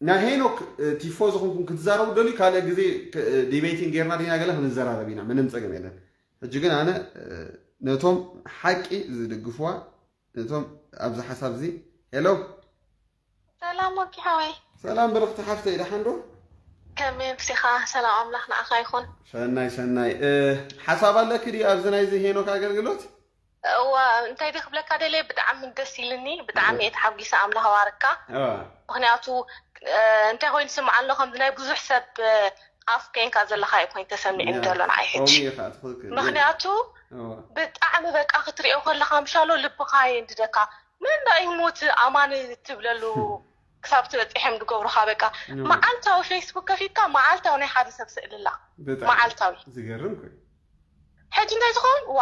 ናይ ሄኖክ ቲፎ ዝኾንኩም ክትዛረቡ ደልዩ ካልእ ግዜ ዲቤቲንግ ጌርና ዲና ገለ ክንዘራረብ ኢና፣ ምንም ጸገም የለን። ሕጂ ግን ኣነ ነቶም ሓቂ ዝድግፍዋ ነቶም ኣብዚ ሓሳብ እዚ ሄሎ ሰላም ወኪ ሓወይ። ሰላም ብርኽቲ ሓፍተይ፣ ደሓን ዶ? ከመይ ምሲኻ? ሰላም ኣምላኽ ንዓኻ ይኹን። ሰናይ ሰናይ። ሓሳብ ኣለኪ ድዩ ኣብዚ ናይዚ ሄኖክ ኣገልግሎት? እዋ እንታይ ዲ ክብለካ ደልየ፣ ብጣዕሚ ደስ ኢልኒ፣ ብጣዕሚ እየ ተሓጒሰ። ኣምላኽ ባርካ። ምክንያቱ እንታይ ኮይኑ ስምዓ ኣሎ፣ ከምዚ ናይ ብዙሕ ሰብ ኣፍ ኮይንካ ዘለካ እዩ ኮይኑ ተሰሚዕኒ ዘሎ ንዓይ ሕጂ። ምክንያቱ ብጣዕሚ በቃ ክትሪኦ ከለካ ምሻሎ ልብካ የንድደካ። መን ዳ ይሙት ኣማን ትብለሉ ክሳብ ትበፂሐም ዝገብሩካ በቃ። መዓልታዊ ፌስቡክ ከፊትካ መዓልታዊ ናይ ሓደ ሰብ ስእሊ ኣላ። መዓልታዊ። ዝገርም ኮይኑ። ሕጂ እንታይ ዝኸውን ዋ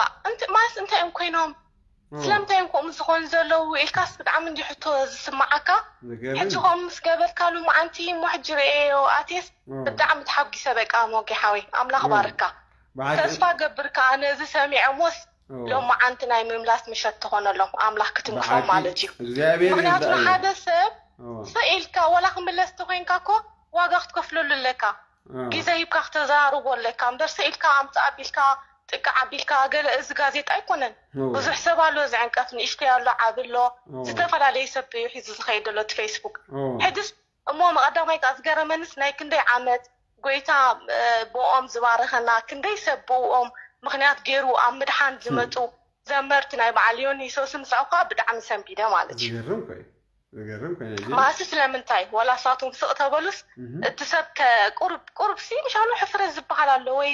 ማለት እንታይ እዮም ኮይኖም? ስለምንታይ እዮም ከምኡ ዝኾኑ ዘለዉ ኢልካስ ብጣዕሚ እንዲ ሕቶ ዝስምዓካ። ሕጂ ከምኡ ምስ ገበርካ ሉምዓንቲ እሞ ሕጂ ርእየዮ ኣትየስ ብጣዕሚ ተሓጒሰ በቃ ሞጌ ሓወይ ኣምላኽ ባርካ። ተስፋ ገብር ከኣ ነዚ ሰሚዐ እሞስ ሎም መዓንቲ ናይ ምምላስ ምሸት ትኾነሎም ኣምላኽ ክትምሖም ማለት እዩ። ምክንያቱ ንሓደ ሰብ ስቕ ኢልካ ወላ ክምለስ ተኮይንካ እኮ ዋጋ ክትከፍለሉ ኣለካ። ግዜ ሂብካ ክተዘራርቦ ኣለካ እምበር ስቕ ኢልካ ኣምፅእ ኣቢልካ ጥቅዕ ኣቢልካ ገለ እዚ ጋዜጣ ኣይኮነን። ብዙሕ ሰብ ኣሎ ዝዕንቀፍ ንእሽተይ ኣሎ ዓቢ ኣሎ ዝተፈላለየ ሰብ እዩ ሒዙ ዝኸይድ ዘሎ እቲ ፌስቡክ። ሕድስ እሞ መቐዳማይ ከኣ ዝገረመንስ ናይ ክንደይ ዓመት ጎይታ ብኦም ዝባረኸና ክንደይ ሰብ ብኦም ምኽንያት ገይሩ ኣብ ምድሓን ዝመፁ ዘመርቲ ናይ በዓል ዮኒ ሶስን ንስዑ ከዓ ብጣዕሚ ሰንቢደ ማለት እዩ። ዝገርም ኮይኑ ዝገርም ኮይኑ እዚ ማሲ ስለምንታይ ወላ ሳቶም ስቕ ተበሉስ እቲ ሰብ ከ ቁሩብ ቁሩብ ሲ ምሻሉ ሕፍረት ዝበሃል ኣሎ ወይ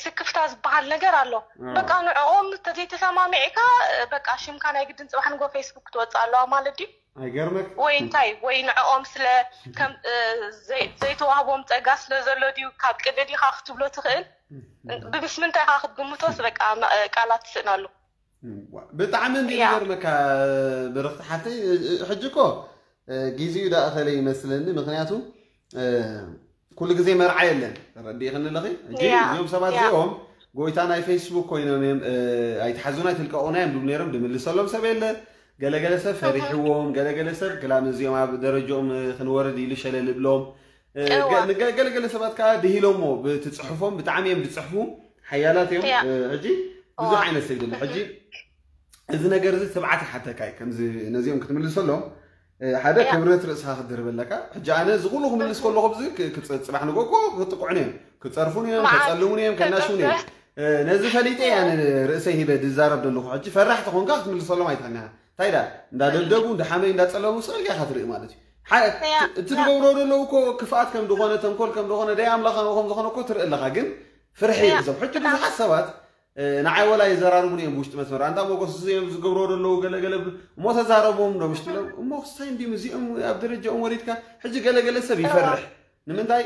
ስክፍታ ዝበሃል ነገር ኣሎ። በቃ ንዕኦም ተዘይተሰማሚዕካ በቃ ሽምካ ናይ ግድን ፅባሕ ንጎ ፌስቡክ ክትወፅእ ኣለዋ ማለት ድዩ? ኣይገርመክ ወይ እንታይ ወይ ንዕኦም ስለ ከም ዘይተዋህቦም ፀጋ ስለ ዘሎ ድዩ ካብ ቅድሚ ዲኻ ክትብሎ ትኽእል? ብምስምንታይ ኢኻ ክትግምቶስ በቃ ቃላት ትስእነሉ። ብጣዕሚ እንዲ ዝገርመካ ብርኽቲ ሓፍተይ ሕጂ እኮ ጊዜኡ ዳእኸለ ይመስለኒ። ምክንያቱ ኩሉ ግዜ መርዓ የለን። ተረዲእኽኒ ኣለኺ? ሕጂ እዚኦም ሰባት እዚኦም ጎይታ ናይ ፌስቡክ ኮይኖም እዮም። ኣይትሓዙና ኣይትልቀቑና እዮም ድብሉ ነይሮም። ድምልሰሎም ሰብ የለ። ገለገለ ሰብ ፈሪሕዎም፣ ገለገለ ሰብ ክላ ነዚኦም ኣብ ደረጃኦም ክንወርድ ኢሉ ሸለል እብሎም። ገለገለ ሰባት ከዓ ድሂሎሞ ብትፅሕፎም ብጣዕሚ እዮም ዝፅሕፉ ሓያላት እዮም። ሕጂ ብዙሕ ዓይነት ሰብ ይደሊ። ሕጂ እዚ ነገር እዚ ትብዓት ይሓተካ እዩ። ከምዚ ነዚኦም ክትምልሰሎም ሓደ ክብረት ርእስኻ ክትድርብ ኣለካ። ሕጂ ኣነ እዚ ኩሉ ክምልስ ከለኹ ብዚ ጽባሕ ንጎ እኮ ክጥቅዑን እዮም፣ ክጸርፉን እዮም፣ ከጸልሙን እዮም፣ ከናሽውን እዮም። ነዚ ፈሊጠ ኣነ ርእሰይ ሂበ ድዛረብ ዘለኹ። ሕጂ ፈራሕ ተኾንካ ክትምልሰሎም ኣይትኽእልን ኢኻ። እንታይ ዳ እንዳደብደቡ እንዳሓመዩ እንዳጸለሙ ስቕ ኢልካ ኢኻ ትርኢ ማለት እዩ። እቲ ዝገብሮ ዘለዉ እኮ ክፍኣት ከም ዝኾነ ተንኮል ከም ዝኾነ ደይ ኣምላኽ ከም ዝኾነ እኮ ትርኢ ኣለኻ። ግን ፍርሒ እዮም እዞም ሕጂ ብዙሓት ሰባት ንዓይ ወላ የዘራርቡኒ እዮም ብውሽጢ መስመር ኣንታ ሞጎስ እዚ እዮም ዝገብሮ ዘለዉ ገለገለ እሞ ተዛረቦም ዶ ምሽ ትብሎም እሞ ክስታይ እንዲም እዚኦም ኣብ ደረጃኦም ወሪድካ ሕጂ ገለገለ ሰብ ይፈርሕ ንምንታይ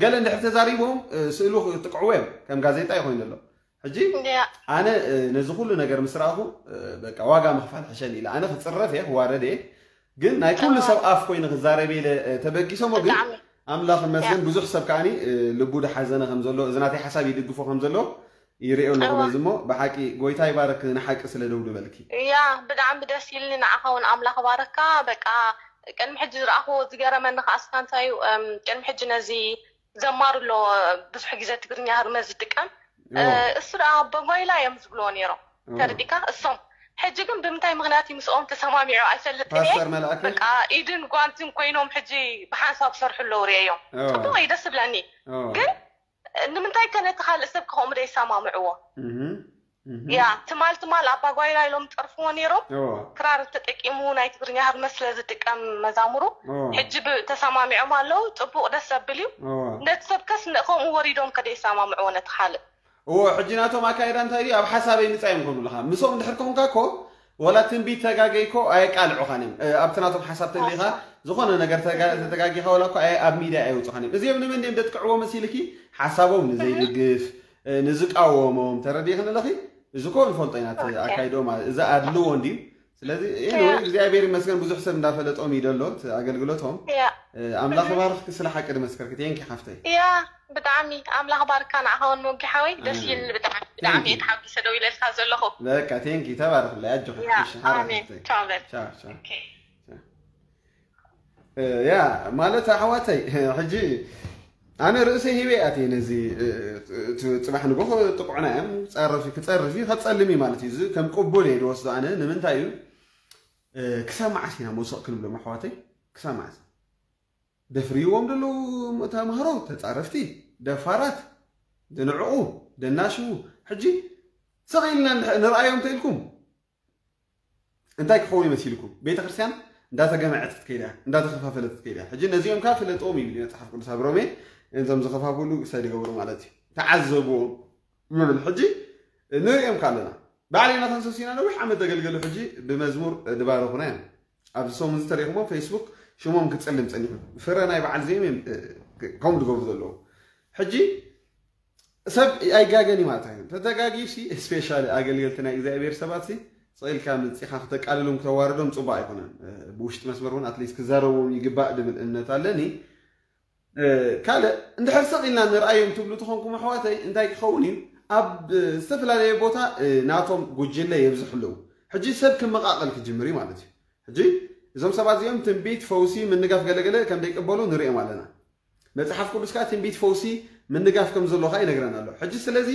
ገለ እንድሕር ተዛሪቦም ስእሉ ጥቅዕዎ እዮም ከም ጋዜጣ ይኮይኑ ኣሎ ሕጂ ኣነ ነዚ ኩሉ ነገር ምስ ረኣኹ በቃ ዋጋ ምኽፋል ሕሸኒ ኢለ ኣነ ክፅረፍ እየ ክዋረድ እየ ግን ናይ ኩሉ ሰብ ኣፍ ኮይኑ ክዛረብ ኢለ ተበጊሶሞ ግን ኣምላኽ መስገን ብዙሕ ሰብ ከዓኒ ልቡ ድሓዘነ ከም ዘሎ እዚ ናተይ ሓሳብ ይድግፎ ከም ዘሎ ይርእዮ ኣለኹ በዚ እሞ ብሓቂ ጎይታ ይባረክ ንሓቂ ስለ ደው ድበልኪ እያ ብጣዕሚ ደስ ኢልኒ ንዓኻ እውን ኣምላኽ ባረካ በቃ ቅድሚ ሕጂ ዝረኣኽዎ ዝገረመኒ ከኣ እስካ እንታይ እዩ ቅድሚ ሕጂ ነዚ ዘማሩ ኣሎ ብዙሕ ግዜ ትግርኛ ህርመት ዝጥቀም እሱ ደኣ በጓይላ እዮም ዝብልዎ ነይሮም ተረዲካ እሶም ሕጂ ግን ብምንታይ ምክንያት እዩ ምስኦም ተሰማሚዑ ኣይፈልጥን እየ ፓስተር መልኣከ በቃ ኢድን ጓንትን ኮይኖም ሕጂ ብሓንሳብ ሰርሑ ኣለዉ ርእዮም እዎ ጽቡቅ እዩ ደስ ዝብለኒ እዎ ግን ንምንታይ ከ ነቲ ካልእ ሰብ ከምኡ ደይሰማምዕዎ እህ እህ ያ ትማል ትማል ኣባጓይላ ኢሎም ጠርፍዎ ነይሮም እዎ ክራር ተጠቂሙ ናይ ትግርኛ ህርመት ስለ ዝጥቀም መዛሙሩ እዎ ሕጂ ብ- ተሰማሚዖም ኣለዉ ጽቡቅ ደስ ዘብል እዩ እዎ ነቲ ሰብ ከስ ን- ከምኡ ወሪዶም ከደይሰማምዕዎ ነቲ ካልእ እዎ ሕጂ ናቶም ኣካይዳ እንታይ ድዩ ኣብ ሓሳበይ ምጻ እዮም ከምብሉኻ ምስኦም ድሕር ከኹንካ እኮ ወላ ትንቢት ተጋገይኮ ኣየቃልዑኻን እዮም ኣብቲ ናቶም ሓሳብ ተሊኻ ዝኾነ ነገር ተተጋጊኻ ወላ እኳ ኣብ ሚድያ ኣየውፅኻን እዮም እዚኦም ንመን ድዮም ደጥቅዕዎ መሲልኪ ሓሳቦም ንዘይድግፍ ንዝቃወሞም ተረዲእኽን ኣለኺ እዚ ኮ ንፈልጦ ኢና ኣካይድኦም እዚ ኣድልዎ እንድዩ ስለዚ እግዚኣብሔር ይመስገን ብዙሕ ሰብ እንዳፈለጦም እዩ ደሎ ኣገልግሎቶም ኣምላኽ ባርኽኪ ስለ ሓቂ ድመስከርኪ ቴንኪ ሓፍተይ ያ ብጣዕሚ ኣምላኽ ባርካ ንዓኻ ውን ሞጊ ሓወይ ደስ ይል ብጣዕሚ ብጣዕሚ እየ ተሓጒሰ ደው ኢለልካ ዘለኹ በቃ ቴንኪ ተባረኽለይ ኣጆኺ ሓራይ ሓፍተይ ያ ማለት ኣሕዋተይ ሕጂ ኣነ ርእሰይ ሂበ ኣትየ ነዚ። ጽባሕ ንጎ ጥቁዕና እዮም ጸርፊ ክጸርፊ ከጸልም እዩ ማለት እዩ። እዚ ከም ቅቡል እየ ዝወስዶ ኣነ። ንምንታይ እዩ ክሳብ መዓስ ኢና መውሰቕ ክንብሎም ኣሕዋተይ? ክሳብ መዓስ? ደፍርይዎም ዘለዉ ተምሃሮ ተጻረፍቲ፣ ደፋራት፣ ደንዕቑ፣ ደናሽዉ። ሕጂ ስቕ ኢልና ንርኣዮም እንተኢልኩም እንታይ ክኸውን ይመሲልኩም? ቤተ ክርስቲያን እንዳተገመዐት ክትከይዳ፣ እንዳተኸፋፈለት ክትከይዳ። ሕጂ ነዚኦም ካብ ፍለጥዎም ይብል መጽሓፍ ቅዱስ ኣብ ሮሜ። እዞም ዝኸፋፍሉ ሰድ ይገብሩ ማለት እዩ። ተዓዘብዎም ይብል። ሕጂ ንርእዮም ካለና ባዕለይና ተንሰሲና ነዊሕ ዓመት ዘገልገሉ ሕጂ ብመዝሙር ዝባረኹና እዮም። ኣብዚ ሰሙን ዝተሪእኹሞ ፌስቡክ ሽሞም ክጽልም ጸኒሑ። ፍረ ናይ በዓል ዜም እዮም ከምኡ ዝገብሩ ዘለዉ። ሕጂ ሰብ ኣይጋገን እዩ ማለት ኣይኮን። ተተጋጊዩ ሲ ስፔሻሊ ኣገልገልቲ ናይ እግዚኣብሔር ሰባት ሲ ስቕ ኢልካ መጺኻ ክተቃልሎም ክተዋርዶም ጽቡቅ ኣይኮነን። ብውሽጢ መስመር እውን ኣትሊስት ክዛረብዎም ይግባእ ድብል እምነት ኣለኒ። ካልእ እንድሕር ስቕ ኢልና ንርኣዮም ትብሉ ተኾንኩም ኣሕዋተይ እንታይ ክኸውን እዩ? ኣብ ዝተፈላለየ ቦታ ናቶም ጉጅለ የብዝሑ ኣለዉ። ሕጂ ሰብ ክመቃቀል ክጅምር እዩ ማለት እዩ። ሕጂ እዞም ሰባት እዚኦም ትንቢት፣ ፈውሲ፣ ምንጋፍ ገለገለ ከም ዘይቅበሉ ንርእዮም ኣለና። መጽሓፍ ቅዱስ ከዓ ትንቢት፣ ፈውሲ፣ ምንጋፍ ከም ዘሎ ከዓ ይነግረና ኣሎ። ሕጂ ስለዚ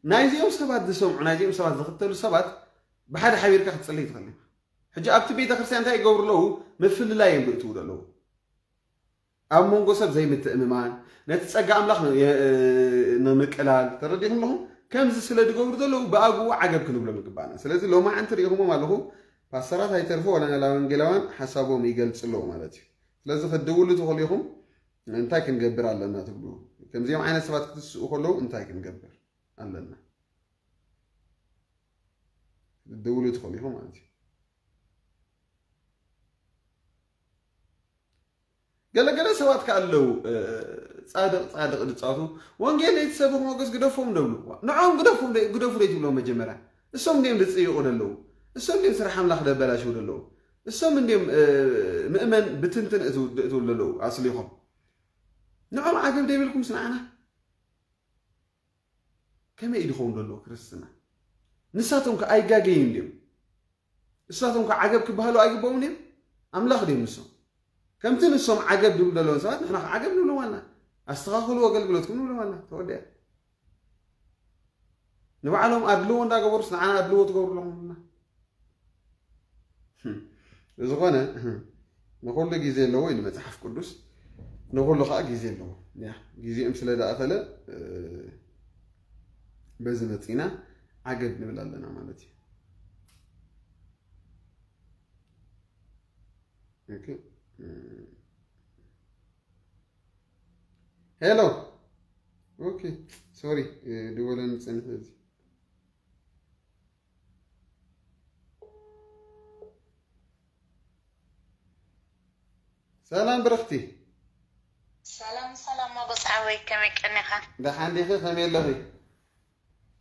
ናይዚኦም ሰባት ዝሰምዑ ናይዚኦም ሰባት ዝኽተሉ ሰባት ብሓደ ሓቢርካ ክትጽልይ ትኽእል ኢኻ። ሕጂ ኣብቲ ቤተ ክርስቲያን እንታይ ይገብሩ ኣለዉ? ምፍልላይ እዮም ዝእትዉ ዘለዉ። ኣብ መንጎ ሰብ ዘይምትእምማን፣ ነቲ ጸጋ ኣምላኽ ንምቅላል ተረዲኹም ኣለኹም። ከምዚ ስለ ዝገብሩ ዘለዉ ብኣግኡ ዓገብ ክንብሎም ይግባና። ስለዚ ሎማዓንቲ ርኢኹሞም ኣለኹ ፓስተራት ኣይተርፉ ዋላ ናላ ወንጌላውያን ሓሳቦም ይገልጽ ኣለዉ ማለት እዩ። ስለዚ ክትድውሉ ትኽእሉ ኢኹም። እንታይ ክንገብር ኣለና ትብሉ? ከምዚኦም ዓይነት ሰባት ክትስኡ ከለዉ እንታይ ክንገብር ኣለና? ክትድውሉ ትኽእሉ ኢኹም ማለት እዩ። ገለገለ ሰባት ከ ኣለዉ ጻድቕ ጻድቕ ዝጻቱ ወንጌል ዘይትሰብኽ ሞገስ ግደፎም ደብሉ። ንዖም ግደፎም ግደፉ ደይትብሎም መጀመርያ። እሶም እንዲም ዝጽይቑ ደለዉ። እሶም እንዲም ስራሕ ኣምላኽ ደበላሽው ደለዉ። እሶም እንዲም ምእመን ብትንትን እትውል ደለዉ ኣስሊኾም። ንዖም ዓገብ ደይብልኩም ስንዓና ከመይ እዩ ዝኸውን ዘሎ ክርስትና? ንሳቶም ከ ኣይጋገዩን ድዮም? ንሳቶም ከ ዓገብ ክበሃሉ ኣይግባኡን እዮም? ኣምላኽ ድዮም ንሶም? ከምቲ ንሶም ዓገብ ድብሉ ዘለውን ሰባት ንሕና ከ ዓገብ ንብሎም ኣልና። ኣስተኻኽሉ ኣገልግሎትኩም ንብሎም ኣልና። ተወዲኣ። ንባዕሎም ኣድልዎ እንዳገበሩስ ንዓና ኣድልዎ ትገብሩ ኣለኹም ኣልና። ብዝኾነ ንኹሉ ግዜ ኣለዎ ኢሉ መጽሓፍ ቅዱስ። ንኹሉ ከዓ ግዜ ኣለዎ። ያ ግዜኦም ስለ ዝኣኸለ በዚ መጺና ዓገብ ንብል ኣለና ማለት እዩ። ሄሎ። ኦኬ፣ ሶሪ፣ ድወለኒ ጸኒሑ እዚ። ሰላም ብርኽቲ። ሰላም ሰላም ሞጎስ ሓወይ፣ ከመይ ቀኒኻ? ደሓን ዲኺ? ከመይ ኣለኺ?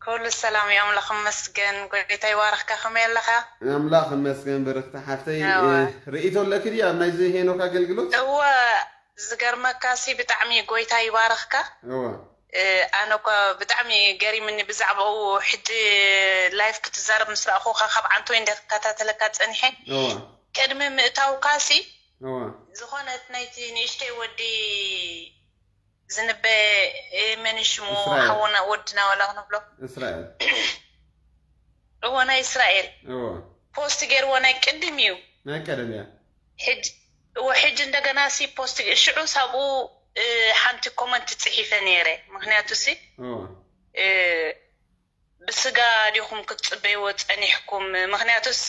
ኩሉ ሰላም እዩ፣ ኣምላኽ ይመስገን። ጎይታ ይባርኽካ፣ ከመይ ኣለኻ? ኣምላኽ ይመስገን ብርኽቲ ሓፍተይ። እወ። እ፣ ርእይቶ ኣለኪ ድዩ ኣብ ናይዚ ሄኖክ ኣገልግሎት? እወ፣ ዝገርመካ ሲ ብጣዕሚ ጎይታ ይባርኽካ። እወ። እ፣ ኣነ እኳ ብጣዕሚ ገሪምኒ ብዛዕባኡ፣ ሕጂ ላይፍ ክትዛረብ ምስ ረኣኹኻ ካብ ዓንተወይ እንደ ክከታተለካ ጸኒሐ። እወ። ቅድሚ ምእታውካ ሲ እወ። ዝኾነት ናይቲ ንእሽተይ ወዲ ዝንበ፣ እ፣ መን ሽሙ እስራኤል። ሓውና ወድና ዋላ ክንብሎ። እስራኤል። እወ፣ ናይ እስራኤል። እወ። ፖስት ገይርዎ ናይ ቅድም እዩ። ናይ ቀደም እያ። ሕጂ፣ እወ፣ ሕጂ እንደገና ሲ ፖስት ገ-፣ ሽዑ ሳብኡ፣ እ፣ ሓንቲ ኮመንት ጽሒፈ ነይረ። ምኽንያቱ ሲ፣ እወ። እ፣ ብስጋ ዲኹም ክትጽበይዎ ጸኒሕኩም? ምኽንያቱስ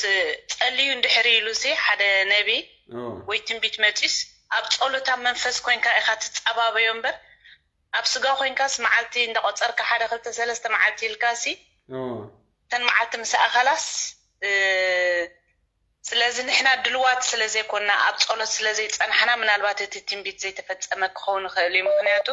ጸልዩ እንድሕር ኢሉሲ ሓደ ነቢ እወ። ወይ ትንቢት መጺስ ኣብ ጸሎት ኣብ መንፈስ ኮይንካ ኢኻ ትጸባበዮ እምበር ኣብ ስጋ ኮይንካስ መዓልቲ እንዳቆጸርካ ሓደ ክልተ ሰለስተ መዓልቲ ኢልካሲ እወ። እተን መዓልቲ ምስ ኣኸላስ፣ እ፣ ስለዚ ንሕና ድልዋት ስለ ዘይኮንና ኣብ ጸሎት ስለ ዘይጸናሕና ምናልባት እቲ ትንቢት ዘይተፈጸመ ክኸውን ይኽእል እዩ። ምኽንያቱ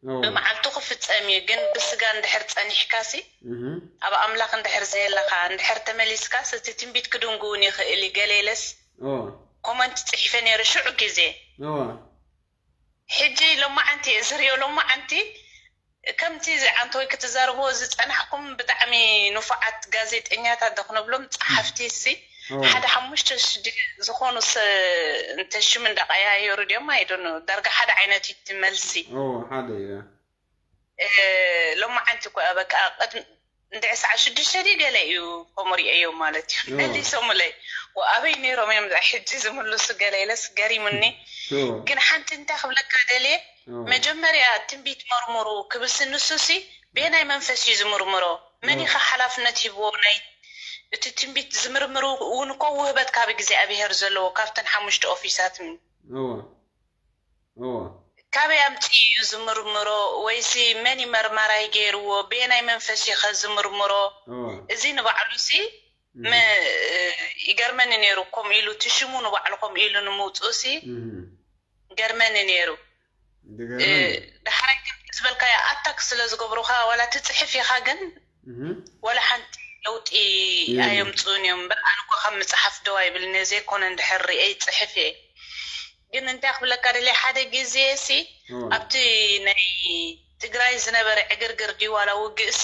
እወ። ብመዓልቱ ክፍጸም እዩ፣ ግን ብስጋ እንድሕር ጸኒሕካሲ እህ። ኣብ ኣምላኽ እንድሕር ዘየለኻ እንድሕር ተመሊስካስ እቲ ትንቢት ክድንጉ እውን ይኽእል እዩ። ገለ ኢለስ እወ። ኮመንት ጽሒፈ ነይረ ሽዑ ግዜ። እወ። ሕጂ ሎማዓንቲ እየ ዝሪኦ። ሎማዓንቲ ከምቲ ዓንተወይ ክትዛረብዎ ዝጸናሕኩም ብጣዕሚ ንፉዓት ጋዜጠኛታት ዶ ክንብሎም ጸሓፍቲ ሲ ሓደ ሓሙሽተ ሽድ ዝኾኑ እንተ ሽም እንዳቀያየሩ ድዮም ኣይዶኖ ዳርጋ ሓደ ዓይነት እዩ እቲ መልሲ። ሓደ እዩ። ሎማዓንቲ እኮ በቃ ቅድሚ እንድዒ ሰዓት ሽዱሽተ ድዩ ገለ እዩ ከምኡ ሪኤዮ ማለት እዩ። መሊሶምለይ ኣበይ ነይሮም እዮም ሕጂ ዝምልሱ ገለ ኢለስ ገሪሙኒ። ግን ሓንቲ እንታይ ክብለካ ደልየ፣ መጀመርያ ትንቢት መርምሩ ክብልሲ ንሱሲ በየናይ መንፈስ እዩ ዝምርምሮ? መን ኢኻ ሓላፍነት ሂብዎ ናይ እቲ ትንቢት ዝምርምሩ? እውን እኮ ውህበት ካብ እግዚኣብሄር ዘለዎ ካብተን ሓሙሽተ ኦፊሳት ካበይ ኣምፂኡ እዩ ዝምርምሮ? ወይሲ መን እዩ መርማራይ ገይርዎ? በየናይ መንፈስ እዩ ከ ዝምርምሮ? እዚ ንባዕሉ ሲ ይገርመኒ ነይሩ። ከምኡ ኢሉ እቲ ሽሙ ንባዕሉ ከምኡ ኢሉ ንምውፅኡ ሲ ይገርመኒ ነይሩ። ዳሕራይ ግን ዝበልካዮ ኣታክ ስለ ዝገብሩካ ዋላ ትፅሕፍ ኢኻ ግን ወላ ሓንቲ ለውጢ ኣየምፅኡን እዮም። በቃ ኣነ እኮ ካብ ምፅሓፍ ደው ኣይብልን እየ፣ ዘይኮነ እንድሕር ሪኤ ይፅሕፍ እየ። ግን እንታይ ክብለካ ደልየ፣ ሓደ ግዜ ሲ ኣብቲ ናይ ትግራይ ዝነበረ ዕግርግር ድዩ ዋላ ውግእ ሲ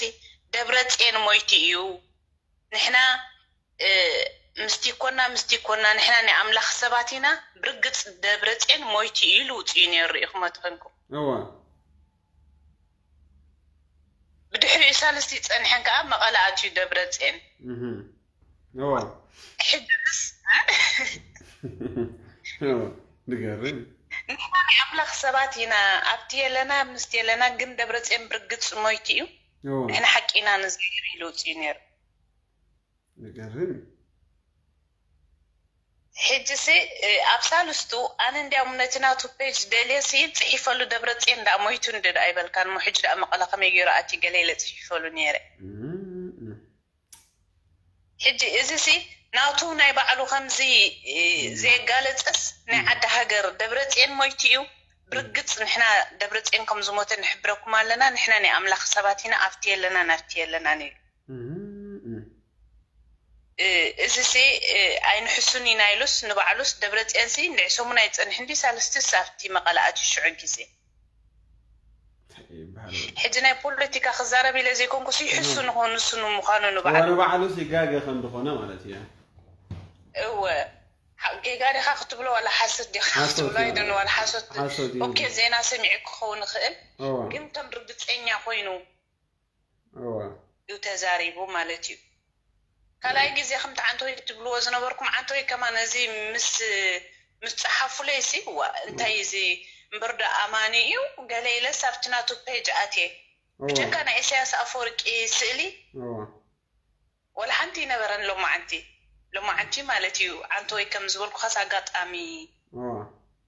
ደብረፅየን ሞይቱ እዩ፣ ንሕና ምስቲ ኮና ምስቲ ኮና ንሕና ናይ ኣምላኽ ሰባት ኢና፣ ብርግፅ ደብረፅየን ሞይቱ እዩ ኢሉ ውፅኡ ነይሩ ርኢኹሞ ተኾንኩም። እዋ ብድሕሪኡ ሳልስቲ ጸንሐን ከኣ መቐለ ኣትዩ ደብረጽየን። እህም። እዋ ሕጂ ምስ እዋ ንገርም ንሕና ናይ ኣምላኽ ሰባት ኢና፣ ኣብቲ የለና ምስቲ የለና፣ ግን ደብረጽየን ብርግጽ ሞይቱ እዩ። እዋ ንሕና ሓቂ ኢና ንዛረብ ኢሉ ውጽኡ ነይሩ። ንገርም እዩ። ሕጂ ሲ ኣብ ሳልስቱ ኣነ እንዲያውም ነቲ ናቱ ፔጅ ደልየ ሲ ጽሒፈሉ ደብረጽዮን ደኣ ሞይቱ እንዲ ደኣ ኣይበልካን እሞ ሕጂ ደኣ መቐለ ከመይ ገይሩ ኣትዩ ገለ ኢለ ጽሒፈሉ ነይረ። እም፣ እም። ሕጂ እዚ ሲ ናቱ ናይ ባዕሉ ከምዚ እ፣ ዘየጋለጸስ ናይ ዓዲ ሃገር ደብረጽዮን ሞይቱ እዩ። ብርግጽ ንሕና ደብረጽዮን ከም ዝሞተ ንሕብረኩም ኣለና። ንሕና ናይ ኣምላኽ ሰባት ኢና። ኣብቲ የለናን ኣብቲ የለናን ኢሉ። እም፣ እም። እ፣ እዚ ሲ እ፣ ኣይንሕሱን ኢና ኢሉስ ንባዕሉስ ደብረጽዮን ሲ እንድዒ ሰሙን ኣይጸንሕን ድዩ ሳልስቲስ ኣብቲ መቐለ ኣትዩ ሽዑ ግዜ። እንታይ ይበሃል? ሕጂ ናይ ፖለቲካ ክዛረብ ኢለ ዘይኮንኩስ ይሕሱ ንኾ ንሱ ንምዃኑ ዋላ ንባዕሉ ባዕሉስ ይጋገ ከም ዝኾነ ማለት እዩ። እወ ሓ- ጌጋ ዲኻ ክትብሎ ዋላ ሓሰት ዲኻ ሓሶት ክትብሎ እዩ። ኣይደን ዋላ ሓሶት ሓሶት እዩ። ኦኬ ዜና ሰሚዑ ክኸውን ይኽእል እዋ ግን ከም ርግፀኛ ኮይኑ እዋ እዩ ተዛሪቡ ማለት እዩ። ካልኣይ ግዜ ከምቲ ዓንተወይ ትብልዎ ዝነበርኩም ዓንተወይ ከማን እዚ ምስ ምስ ፀሓፉለይ ሲ ዋ እንታይ እዚ እምበር ዶ ኣማኒ እዩ ገለ ኢለስ ኣብቲ ናቱ ፔጅ ኣትየ እዋ ብጀካ ናይ ኢሳያስ ኣፈወርቂ ስእሊ እዋ ወላ ሓንቲ ይነበረን ሎማዓንቲ ሎማዓንቲ ማለት እዩ ዓንተወይ ከም ዝበልኩኻስ ኣጋጣሚ እዋ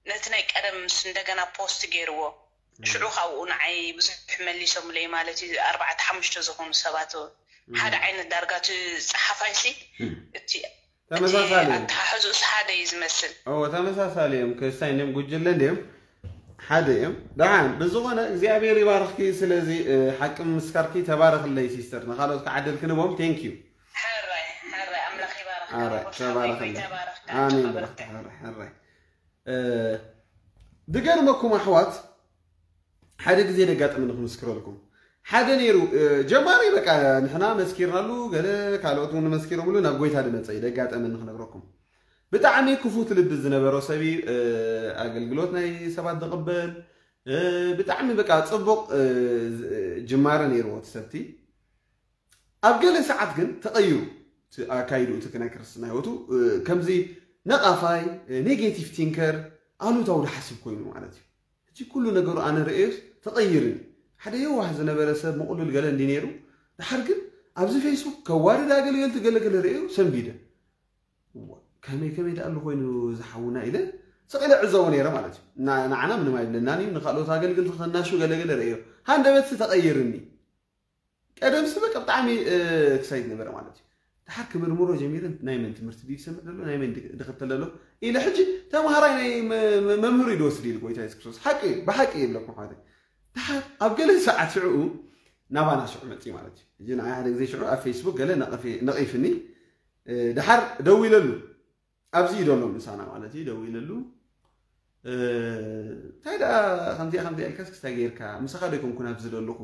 ነቲ ናይ ቀደም ምስ እንደገና ፖስት ገይርዎ ሽዑ ካብኡ ንዓይ ብዙሕ መሊሶምለይ ማለት እዩ ኣርባዕተ ሓሙሽተ ዝኾኑ ሰባት ሓደ ዓይነት ዳርጋ እቲ ፀሓፋይ ሲ እቲ ተመሳሳሊ ኣተሓሕዝኡስ ሓደ እዩ ዝመስል እዎ ተመሳሳሊ እዮም ክስታይ እንዲም ጉጅለ እንዲም ሓደ እዮም ደሓን ብዝኾነ እግዚኣብሔር ይባርኽኪ ስለዚ እ፣ ሓቂ ምስካርኪ ተባረኽለይ ሲስተር ንካልኦት ክዓደል ክንቦም thank you ሕራይ ሕራይ ኣምላኽ ይባርኽ ኣረ ተባረኽለይ ኣሜን ብርኽቲ ሕራይ ሕራይ እ፣ ድገርመኩም ኣሕዋት ሓደ ግዜ ደጋጠመ ንክምስክረልኩም ሓደ ነይሩ እ፣ ጀማሪ በቃ ንሕና መስኪርናሉ ገለ ካልኦት እውን መስኪሮምሉ ናብ ጎይታ ድመፀ እዩ ደጋጠመ ንክነግረኩም ብጣዕሚ ክፉት ልቢ ዝነበሮ ሰብ እዩ እ፣ ኣገልግሎት ናይ ሰባት ዝቕበል እ፣ ብጣዕሚ በቃ ፅቡቕ እ፣ ጅማረ ነይርዎ እቲ ሰብቲ ኣብ ገለ ሰዓት ግን ተቐይሩ እቲ ኣካይዱ እቲ ናይ ክርስትና ህይወቱ እ፣ ከምዚ ነቓፋይ ኔጌቲቭ ቲንከር ኣሉታዊ ዝሓስብ ኮይኑ ማለት እዩ ሕጂ ኩሉ ነገሩ ኣነ ርእዮስ ተቐይርኒ ሓደ የዋህ ዝነበረ ሰብ ምቕሉል ገለ እንዲ ነይሩ ድሓር ግን ኣብዚ ፌስቡክ ከዋርድ ኣገልገልቲ ገለገለ ርእዮ ሰንቢደ እዋ፣ ከመይ ከመይ ደኣ ኣሎ ኮይኑ ዝሓውና ኢለ ስቕ ኢለ ዕዘቦ ነይረ ማለት እዩ ና- ንዓና ምንም ኣይብለናን እዩ ንካልኦት ኣገልግልቲ ከናሹ ገለገለ ርእዮ ሃንደበትሲ ተቐይርኒ ቀደምሲ በቃ ብጣዕሚ ክሳይት ነበረ ማለት እዩ ድሓር ክምርምሮ ጀሚረ ናይ መን ትምህርቲ ድዩ ዝሰምዕ ዘሎ ናይ መን ድክተል ዘሎ ኢለ ሕጂ ተምሃራይ ናይ መ- መ- መምህሩ እዩ ዝወስድ ኢሉ ጎይታ የሱስ ክርስቶስ ሓቂ እዩ ብሓቂ ይብለኩም ሓወተይ ድሓር ኣብ ገለ ሰዓት ሽዕኡ ናባና ሽዑ መፅእ ማለት እዩ ሕጂ ንዓይ ሓደ ግዜ ሽዑ ኣብ ፌስቡክ ገለ ነቒፊ- ነቒፍኒ እ፣ ድሓር ደዊለሉ ኣብዚ እዩ ደሎ ምሳና ማለት እዩ ደዊለሉ እ፣ እንታይ ደኣ ከምዚኣ ከምዚኣ ኢልካስ ክስታይ ገይርካ ምሳኻ ዶ ይኮንኩን ኣብዚ ዘለኹ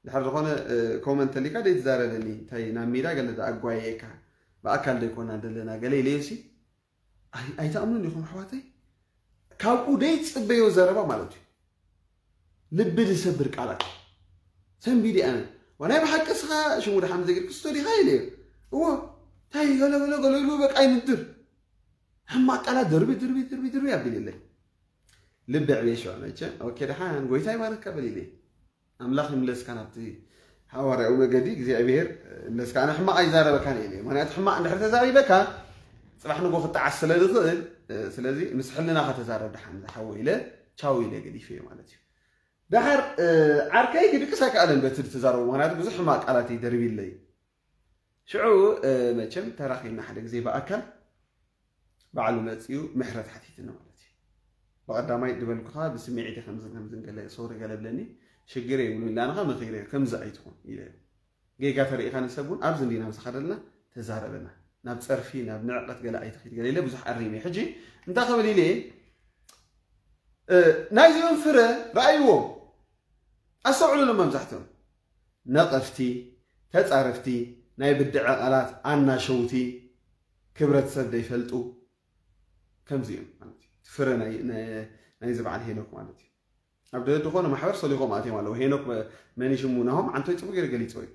ድሓር ዝኾነ እ፣ ኮመንት ተሊካ ደይትዛረበኒ እንታይ ናብ ሜዳ ገለ ደኣ ኣጓየየካ ብኣካል ዘይኮና ዘለና ገለ ኢለዮሲ ኣይትኣምኑን ኢኹም ኣሕዋተይ። ካብኡ ደይፅበዮ ዘረባ ማለት እዩ። ልቢ ዝሰብር ቃላት ሰንቢዲ ኣነ ዋናይ ብሓቂ ስኻ ሽሙ ድሓም ዘግር ክስቶ ዲኻ ኢለ እዎ እንታይ ገለገለ ገለ ኢሉ በቃ ይምድር ሕማቅ ቃላት ድርቢ ድርቢ ድርቢ ድርቢ ኣቢል የለይ። ልቢ ዕብየ ሸዋ መቸ ኦኬ ድሓን ጎይታ ይባረካ በል ኢለ ኣምላኽ ይምለስካ ናብቲ ሓዋርያዊ መገዲ እግዚኣብሔር ይምለስካ። ኣነ ሕማቕ ኣይዛረበካን እየ ኢለ ምክንያቱ ሕማቕ እንድሕር ተዛሪበካ ፅባሕ ንጎ ክጠዓስ ስለ ዝኽእል ስለዚ ምስ ሕልናኻ ተዛረብ ድሓን ዝሓወ ኢለ ቻው ኢለ ገዲፈ ማለት እዩ። ደሓር ዓርከይ ክድቅስ ኣይከኣለን በቲ ዝተዛረቡ ምክንያቱ ብዙሕ ሕማቕ ቃላት እዩ ደርቢለይ። ሽዑ መቸም ተራኺብና ሓደ ግዜ ብኣካል ባዕሉ መፅኡ ምሕረት ሓቲትኒ ማለት እዩ። ብቐዳማይ ድበልኩኻ ብስምዒት ከምዝን ከምዝን ገለ ሶሪ ገለ ብለኒ ሽግር የብሉ ኢላንኻ መኺረ ከምዚ ኣይትኹን ኢለ ጌጋ ተሪኢኻ ንሰብ እውን ኣብዚ እንዲና ዝኸደልና ተዛረበና ናብ ፀርፊ ናብ ንዕቀት ገለ ኣይትኺድ ገለ ኢለ ብዙሕ ኣሪመ ሕጂ እንታይ ክብል ኢለ ናይዚኦም ፍረ ረኣይዎም ኣስተውዕሉሎም መብዛሕትኦም ነቐፍቲ ተፃረፍቲ ናይ ብድዐ ቃላት ኣናሸውቲ ክብረት ሰብ ዘይፈልጡ ከምዚ እዮም ማለት እዩ። ፍረ ናይ- ናይ- ናይዚ በዓል ሄኖክ ማለት እዩ። ኣብ ደ- ዝኾነ ማሕበር ሰሊኾም ኣትዮም ኣለዉ። ሄኖክ መ- መን ሽሙ ናሆም ዓንቶይ ፅቡቅ ገይሩ ገሊፅዎ እዩ።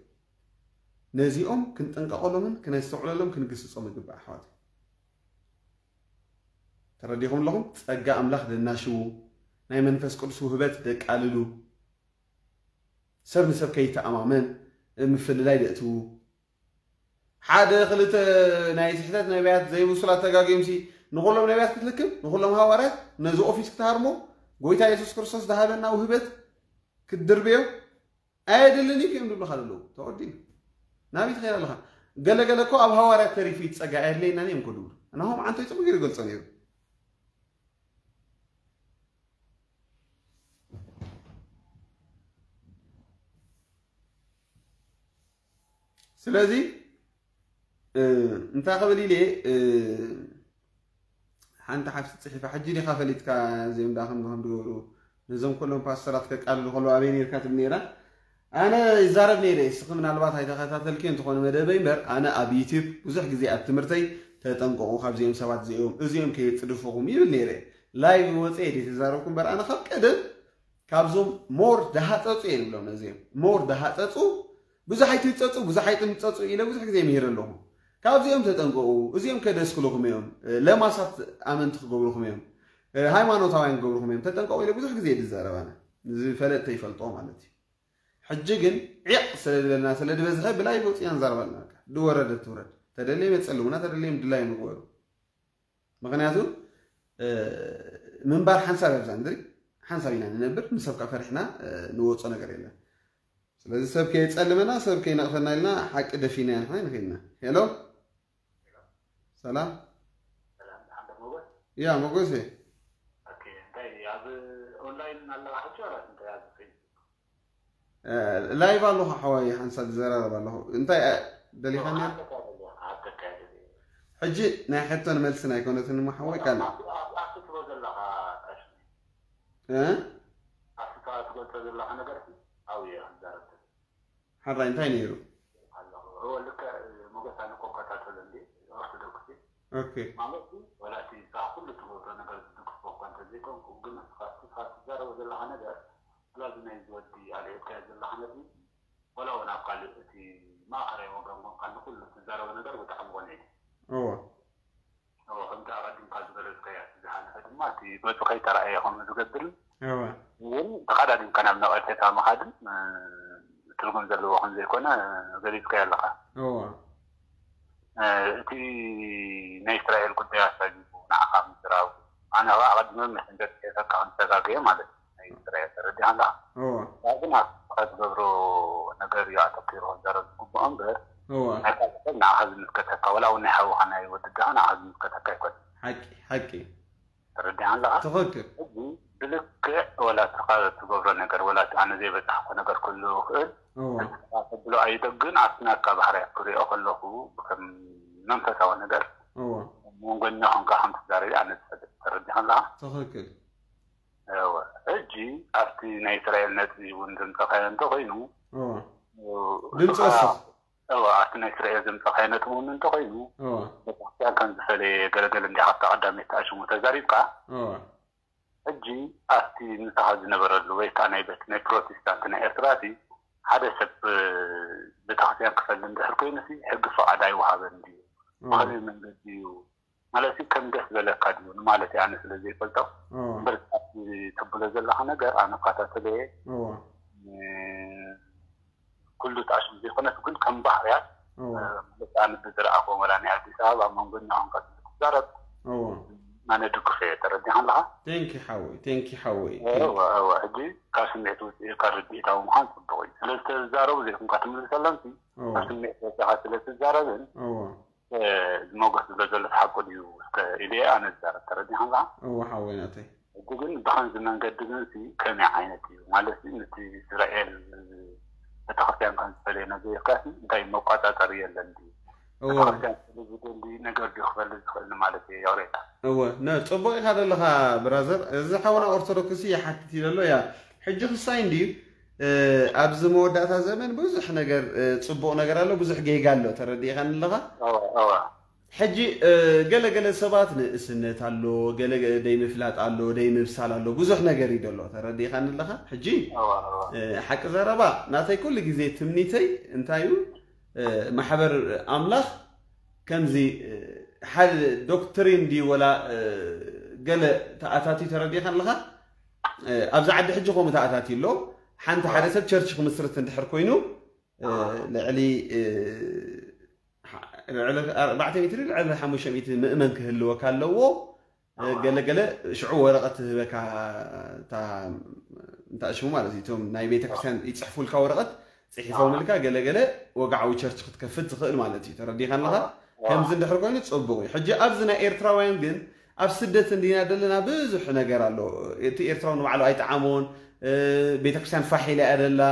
ነዚኦም ክንጥንቀቐሎምን ክነስተውዕለሎም ክንግስጾም ይግባእ ኣሕዋት። ተረዲኹም ኣለኹም? ጸጋ ኣምላኽ ደናሽዉ፣ ናይ መንፈስ ቅዱስ ውህበት ደቃልሉ፣ ሰብ ንሰብ ከይተኣማመን ምፍልላይ ደእትዉ፣ ሓደ ክልተ ናይ ስሕተት ነቢያት ዘይብሱላት ተጋጊዮምሲ ንኹሎም ነቢያት ክትልክም ንኹሎም ሃዋርያት ነዚ ኦፊስ ክትሃርሞ ጎይታ የሱስ ክርስቶስ ዝሃበና ውህበት ክትድርብዮ ኣየድልን እዩ እዮም ዝብሉኻ ዘለዉ ተወዲኡ ናበይ ትኸይድ ኣለኻ ገለገለ እኮ ኣብ ሃዋርያት ተሪፉ ይፀጋ ኣየድለየናን እዮም እኮ ዝብሉ ናሆም ዓንቶ ይፅቡ ገይሩ ይገልፆ ነይሩ ስለዚ እንታይ ክብል ኢለ ሓንቲ ሓፍቲ ፅሒፋ ሕጂ ዲኻ ፈሊጥካ እዚኦም ዳ ከም ከም ዝገብሩ ነዞም ኩሎም ፓስተራት ከቃልሉ ከለዉ ኣበይ ነርካ ትብል ነራ ኣነ ይዛረብ ነይረ እስኺ ምናልባት ኣይተኸታተልኪ እንትኾነ መደበይ እምበር ኣነ ኣብ ዩቲብ ብዙሕ ግዜ ኣብ ትምህርተይ ተጠንቀቑ ካብዚኦም ሰባት እዚኦም እዚኦም ከየፅድፍኹም ይብል ነይረ ላይቭ ወፀ የ ተዛረብኩ እምበር ኣነ ካብ ቀደም ካብዞም ሞር ደሃፀፁ እየ ንብሎም ነዚኦም ሞር ደሃፀፁ ብዙሕ ኣይትህፀፁ ብዙሕ ኣይትምፀፁ ኢለ ብዙሕ ግዜ ምሂረ ኣለኹ ካብዚኦም ተጠንቀቑ እዚኦም ከደስክሉኹም እዮም ለማሳት ኣመንቲ ክገብሩኹም እዮም ሃይማኖታውያን ክገብሩኹም እዮም ተጠንቀቑ ኢለ ብዙሕ ግዜ ዝዛረብ ኣነ ዝፈለጥተ ይፈልጦ ማለት እዩ ሕጂ ግን ዒቕ ስለ ዝበልና ስለ ዝበዝሐ ብላይ ወፅና ንዛረብ ኣለና ድወረደ ትውረድ ተደለየ መፀልሙና ተደለየ ድላይ ምግበሩ ምክንያቱ ምንባር ሓንሳብ ኣብዛ ምድሪ ሓንሳብ ኢና ንነብር ንሰብ ከዓ ፈሪሕና ንወፆ ነገር የለን ስለዚ ሰብ ከየፀልመና ሰብ ከይነቕፈና ኢልና ሓቂ ደፊና ኢና ንሕና ንኸድና ሄሎ ሰላም ያ መጎሴ ላይቭ ኣለኹ ሓዋይ ሓንሳብ ዝዘራረብ ኣለኹ እንታይ ደሊኻኒ ሕጂ ናይ ሕቶን መልስን ኣይኮነትን እሞ ሓወይ ካል ትብሎ ዘለኻ ቀሺ እ ኣብቲ ትገልጾ ዘለኻ ነገር ኣብኡ እየ ክዛረብ ሓራይ እንታይ ነይሩ ኣለኹ እወ ልክዕ ሞገስ ኣነ እኮ እከታተሎ እንዲ ኦርቶዶክስ እየ ኦኬ ማለት ወላ እቲ ንስኻ ኩሉ ትገብሮ ነገር ዝድግፎ እኳ እንተዘይኮንኩ ግን ንስኻ እቲ ንስኻ ትዛረቦ ዘለኻ ነገር ወላ እዚ ናይዚ ወዲ ኣልዒልካዮ ዘለኻ ነጥቢ ወላ እውን ኣብ ካልእ እቲ ማእኸላይ ወገን ኮንካ ንኹሉ ትዛረቦ ነገር ብጣዕሚ ቆንዒኒ እወ እወ ከምቲ ኣቐዲምካ ዝገለፅካዮ እቲ ዝሓለፈ ድማ እቲ ገፁ ከይተረኣየ ከምኡ ዝገብርን እወ እውን ተቐዳዲምካ ናብ ነቐፌታ ምኻድን ትርጉም ዘለዎ ከም ዘይኮነ ገሊፅካዮ ኣለኻ እወ እቲ ናይ እስራኤል ጉዳይ ኣሳጊቡ ንዓኻ ምዝራቡ ኣነ ኸዓ ኣቐዲመ መሰንጀር ጽሒፈካ ከም ዝተጋገየ ማለት እዩ ናይ እስራኤል ተረዲኻ ኣለኻ እወ ግን ኣስኻ ትገብሮ ነገር እዩ ኣተኪሩ ክዛረብ ዝግብኦ እምበር እወ ናይ ካልእ ሰብ ንዓኻ ዝምልከተካ ወላ እውን ናይ ሓውኻ ናይ ወድድኻ ንዓኻ ዝምልከተካ ኣይኮነን ሓቂ ሓቂ ተረዲኻ ኣለኻ ትኽክል ሕጂ ብልክዕ ወላ እስኻ ትገብሮ ነገር ወላ ኣነ ዘይበፃሕኮ ነገር ክህሉ ይኽእል እወ ተብሎ ኣይደ ግን ኣብቲ ናትካ ባህርያት ክሪኦ ከለኹ ከም መንፈሳዊ ነገር እወ መንጎኛ ኮንካ ከም ትዛረቢ ኣነ ዝፈልጥ ተረዲኻ ኣለኻ ትኽክል እወ ሕጂ ኣብቲ ናይ እስራኤል ነጥቢ እውን ዘምፀኻዮ እንተኮይኑ እወ ድምፂ ወስኽ እወ፣ ኣብቲ ናይ እስራኤል ዘምጻእካዮ ነጥቢ እውን እንተኾይኑ፣ እወ። ቤተክርስትያን ከም ዝፈለየ ገለገለ እንዲኻ ኣብታ ቀዳመይቲ ተኣሽሙ ተዛሪብካ። እወ። ሕጂ ኣብቲ ምሳኻ ዝነበረሉ ወይ ከዓ ናይ ቤት ናይ ፕሮቴስታንት ናይ ኤርትራ እቲ ሓደ ሰብ፣ እ፣ ቤተክርስትያን ክፈሊ እንድሕር ኮይኑ ሲ ሕጊ ፍቓድ ኣይወሃበን ድዩ? እወ። ብኸመይ መንገዲ እዩ? ማለት ከም ደስ በለካ ድዩ ንማለት እየ ኣነ ስለ ዘይፈልጦ። እወ። እምበር ኣብቲ ትብሎ ዘለኻ ነገር ኣነ እከታተሎ እየ። እወ። እ፣ ኩሉ ተኣሽሙ ዘይኮነስ ግን ከም ባህርያት፣ እወ። እ፣ ማለት ኣነ ብዝረኣኽዎም ወላ ናይ ኣዲስ ኣበባ ኣብ መንጎ እናኾንካ ክትዛረብ እወ። ኣነ ድግፎ እየ። ተረዲኻ ኣለኻ? ቴንኪ ሓወይ፣ ቴንኪ ሓወይ፣ ቴንኪ። እወ፣ እወ። ሕጂ ካብ ስምዒት ውፅእ ኢልካ ርድኢታዊ ምዃን ፅቡቕ እዩ። ስለ ዝተዛረቡ ዘይኮንካ ትምልሰሎም ሲ እወ። ካብ ስምዒት ወፂኻ ስለ ትዛረብን እወ። እ፣ ሞገስ ዝብሎ ዘሎ ሓቁ ድዩ እስከ ኢለ ኣነ ዝዛረብ። ተረዲኻ ኣለኻ? እወ ሓወይ ናተይ። ሕጂ ግን ብኸምዚ መንገዲ ግን ሲ ከመይ ዓይነት እዩ? ማለት ሲ ነቲ እስራኤል ቤተክርስትያን ከም ዝፈለየ ነገር ኢልካ ሲ እንታይ መቋጻጸሪ የለን ድዩ? እወ። ቤተክርስትያን ስለ ዝደሊ ነገር ድዩ ክፈሊ ዝኽእል ንማለት እየ። ይቕሬታ። እወ፣ ነ-፣ ጽቡቕ ኢኻ ዘለኻ ብራዘር። እዚ ሓውና ኦርቶዶክስ ይሓትት እዩ ዘሎ። ያ፣ ሕጂ ክሳይ እንድዩ፣ እ፣ ኣብዚ መወዳእታ ዘመን ብዙሕ ነገር፣ እ፣ ጽቡቕ ነገር ኣሎ፣ ብዙሕ ጌጋ ኣሎ። ተረዲእኻኒ ኣለኻ? እወ፣ እወ። ሕጂ፣ እ፣ ገለ ገለ ሰባት ንእስነት ኣሎ፣ ገለ ገለ ደይ ምፍላጥ ኣሎ፣ ደይ ምብሳል ኣሎ፣ ብዙሕ ነገር እዩ ዘሎ። ተረዲእኻኒ ኣለኻ? ሕጂ፣ እወ፣ እወ። እ፣ ሓቂ ዘረባ ናተይ ኩሉ ግዜ ትምኒተይ እንታይ እዩ? እ፣ ማሕበር ኣምላኽ ከምዚ፣ እ፣ ሓደ ዶክትሪን ድዩ ወላ፣ እ፣ ገለ ተኣታትዩ ተረዲእኻ ኣለኻ? እ፣ ኣብዚ ዓዲ ሕጂ ከምኡ ተኣታትዩ ኣሎ። ሓንቲ ሓደ ሰብ ቸርች ክምስርት እንድሕር ኮይኑ፣ እ፣ ልዕሊ፣ እ፣ ሓ-፣ ልዕሊ ኣርባዕተ ሚእቲ ልዕሊ ሓሙሽተ ሚእቲ ምእመን ክህልወካ ኣለዎ። እ፣ ገለ ገለ ሽዑ ወረቐት ትህበካ፣ እታ፣ እንታይ ሽሙ ማለት እዩ፣ እቶም ናይ ቤተክርስትያን ይጽሕፉልካ ወረቐት፣ ጽሒፎምልካ ገለ ገለ ወግዓዊ ቸርች ክትከፍት ትኽእል ማለት እዩ። ተረዲኻ ኣለኻ? ከምዚ እንድሕር ኮይኑ ጽቡቕ እዩ። ሕጂ ኣብዚ ናይ ኤርትራውያን ግን ኣብ ስደት እንዲና ዘለና ብዙሕ ነገር ኣሎ። እቲ ኤርትራዊ ንባዕሉ ኣይጠዓሞን። እ፣ ቤተክርስትያን ፋሕ ኢላ እያ ደላ፣